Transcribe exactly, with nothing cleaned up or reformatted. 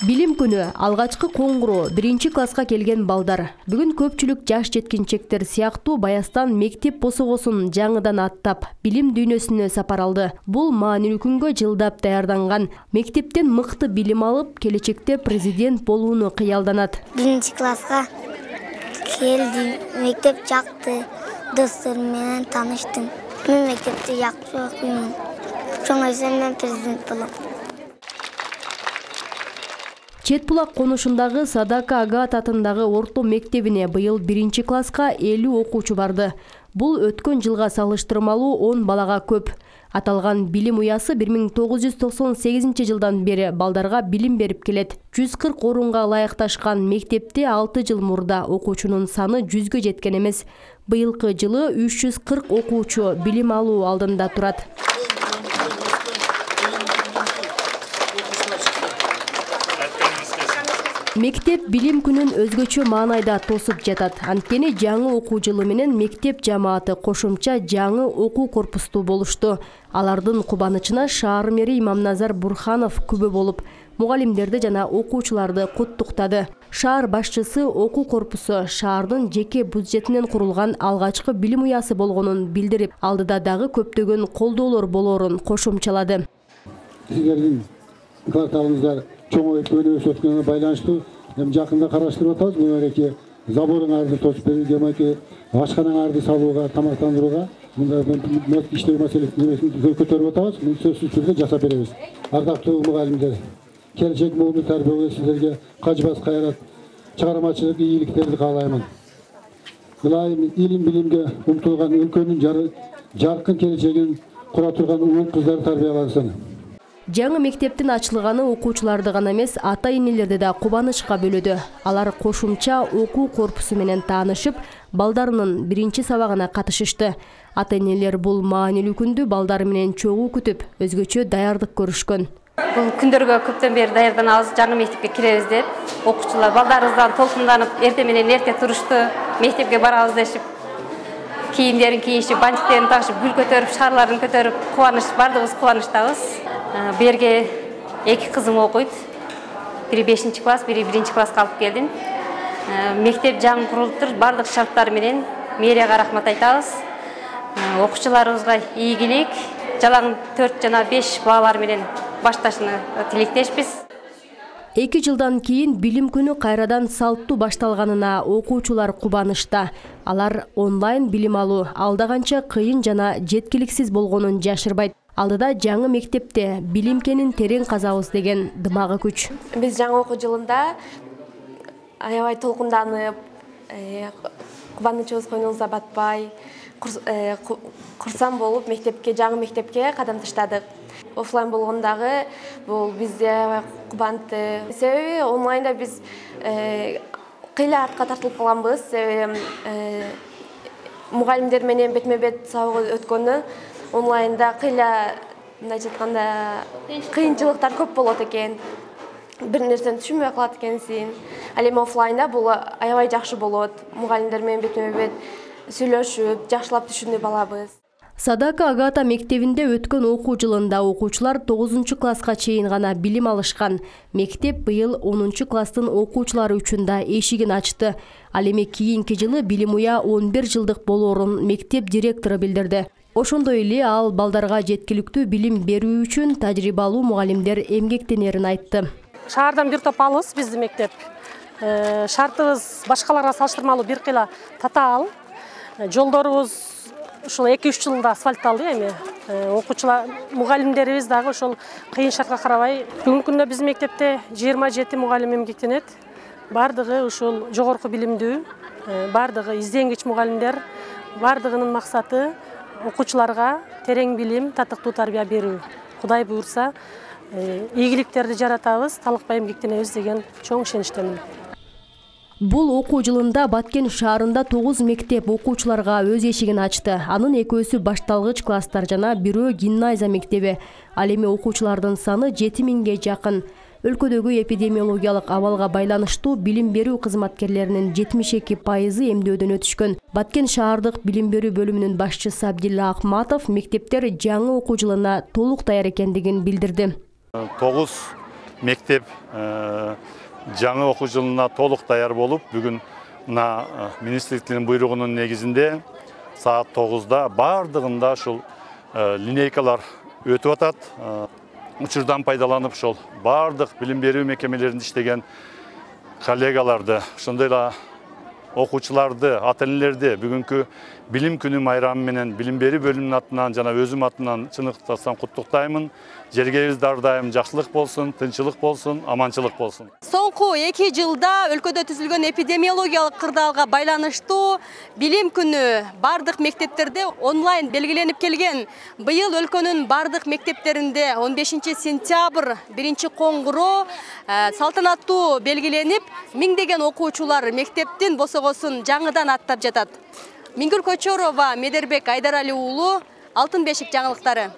Билим күнү алгачкы коңгуроо биринчи класска келген балдар. Бүгүн көпчүлүк жаш жеткинчектер сыяктуу Баястан мектеп босогосун жаңыдан аттап, билим дүйнөсүнө сапар алды. Бул маанилүү күнгө жылдап даярданган. Мектептен мыкты билим алып, келечекте президент болууну кыялданат. Биринчи класска келдим, мектеп жакты, досторум менен тааныштым. Мен мектепти жакшы окуймун. Чоңойсом мен президент болом. Чет булак конушундагы Садака Агат атындагы орто мектебине быйыл биринчи класска элүү окуучу барды. Бул өткөн жылга салыштырмалуу он балага көп. Аталган билим уясы бир миң тогуз жүз токсон сегизинчи жылдан бери балдарга билим берип келет. жүз кырк орунга ылайыкташкан мектепте алты жыл мурда окуучунун саны жүзгө жеткен эмес. Быйылкы жылы үч жүз кырк окуучу билим алуу алдында турат. Мектеп билим күнүн өзгөчө маанайда тосуп жатат. Анткени жаңы окуу жылы менен мектеп жамааты кошумча жаңы окуу корпустуу болушту. Алардын кубанычына шаар мэри Имамназар Бурханов күбө болуп, мугалимдерди жана окуучуларды куттуктады. Шаар башчысы окуу корпусу шаардын жеке бюджетинен курулган алгачкы билим уясы болгонун билдирип, алдыда дагы көптөгөн колдоолор болорун кошумчалады. Сиздердин кварталыңыздар чоңоюп өнүгүп өткөнүнө байланыштуу эми жакында караштырып атабыз. Мынакей заборыңарды тосуп берүү, демеки ашканаңарды салууга, тамактандырууга мындай иштөө маселесин көтөрүп атабыз. Муну сөзсүз түрдө жасап беребиз. Ардактуу мугалимдер, келечек мугалим тарбиялоо сиздерге качпас кайрат, чыгармачылык ийгиликтерди каалаймын. Ылайым илим билимге умтулган өлкөнүн жаркын келечегин кура турган уул кыздар тарбиялансын. Жаңы мектептин ачылганы окуучуларды гана эмес, ата-энелерди да кубанычка бөлөдү. Алар кошумча окуу корпусу менен таанышып, балдарынын биринчи сабагына катышышты. Ата-энелер бул маанилүү күндү балдары менен чогуу күтүп, өзгөчө даярдык көрүшкөн. Бул күндөргө көптөн бери даярданабыз, жаңы мектепке киребиз деп. Окуучулар балдарыбыздан толкунданып, эрте менен эрте турушту, мектепке барабыз дешип, кийимдерин кийишип, бантиктерин тагышып, гүл көтөрүп, шаарларын көтөрүп, кубаныч, бардыгыбыз кубанычтабыз. Берге эки кызым окуйт. Бири бешинчи класс, бири биринчи класска алып келдим. Мектеп жаңы курулуптур, бардык шарттары менен мэрияга рахмат айтабыз. Окуучуларыбызга ийгилик, жалаң төрт жана беш балалар менен башташыны тилектешпиз. Эки жылдан кийин билим күнү кайрадан салттуу башталганына окуучулар кубанычта. Алар онлайн билим алуу алда канча кыйын жана жеткиликсиз болгонун жашырбайт. Алдыда жаңы мектепте билимкенин терең казабыз деген дымагы күч. Биз жаңы окуу жылында аябай толкунданып, кубанычыбыз койнубузда батпай, курсам болуп мектепке, жаңы мектепке кадам таштадык. Офлайн болгондагы бул бизде аябай кубантты. Себеби онлайнда биз кыйла артка тартылып калганбыз. Себеби мугалимдер менен бетме-бет сабак өткөнү онлайнда кыйла, мындайча айтканда, кыйынчылыктар көп болот экен. Бир нерсени түшүнбөй калат экенсиң. Ал эми офлайнда бул аябай жакшы болот. Мугалимдер менен бетме-бет сүйлөшүп, жакшылап түшүнүп алабыз. Садака Агата мектебинде өткөн окуу жылында окуучулар тогузунчу класска чейин гана билим алышкан. Мектеп быйыл онунчу класстын окуучулары үчүн да эшигин ачты. Ал эми кийинки жылы билим уя он бир жылдык болоорун мектеп директору билдирди. Ошондой эле ал балдарга жеткиликтүү билим берүү үчүн тажрыйбалуу мугалимдер эмгектенерин айтты. Шаардан бир топ алыс биздин мектеп. Шартыбыз башкаларга салыштырмалуу бир кыйла татаал. Жолдорубуз ушул эки үч жылда асфальтталды эми. Окуучулар, мугалимдерибиз дагы ошол кыйын шартка карабай, бүгүнкү күндө биздин мектепте жыйырма жети мугалим эмгектенет. Бардыгы ушул жогорку билимдүү, бардыгы изденгич мугалимдер, бардыгынын максаты окуучуларга терең билим, татыктуу тарбия берүү. Кудай буйрса, ийгиликтерди жаратабыз, талыкпай эмгектенебиз деген чоң ишеничтемин. Бул окуу жылында Баткен шаарында тогуз мектеп окуучуларга өз эшигин ачты. Анын экөөсү башталгыч класстар жана бирөө гимназия мектеби. Ал эми окуучулардын саны жети миңге жакын. Өлкөдөгү эпидемиологиялык абалга байланыштуу билим берүү кызматкерлеринин жетимиш эки пайызы эмдөөдөн өтүшкөн. Баткен шаардык билим берүү бөлүмүнүн башчысы Абдилла Акматов мектептер жаңы окуу жылына толук даяр экендигин билдирди. тогуз мектеп жаңы окуу жылына толук даяр болуп, бүгүн мына министрликтин буйругунун негизинде саат тогузда бардыгында ушул линейкалар өтүп атат. Учурдан пайдаланып ошол бардык билим берүү мекемелеринде иштеген коллегаларды, ошондой эле окуучуларды, ата-энелерди бүгүнкү билим күнү майрамы менен билим берүү бөлүмүнүн атынан жана өзүм атынан чыныктасам куттуктаймын. Жергебиз ар дайым жакшылык болсун, тынчылык болсун, аманчылык болсун. Соңку эки жылда өлкөдө түзүлгөн эпидемиологиялык кырдаалга байланыштуу билим күнү бардык мектептерде онлайн белгиленип келген. Быйыл өлкөнүн бардык мектептеринде он бешинчи сентябрь биринчи коңгуроо салтанаттуу белгиленип, миңдеген окуучулар мектептин босогосун жаңыдан аттап жатат. Миңгүл Көчөрова, Медербек Айдарали уулу, Алтын бешик жаңылыктары.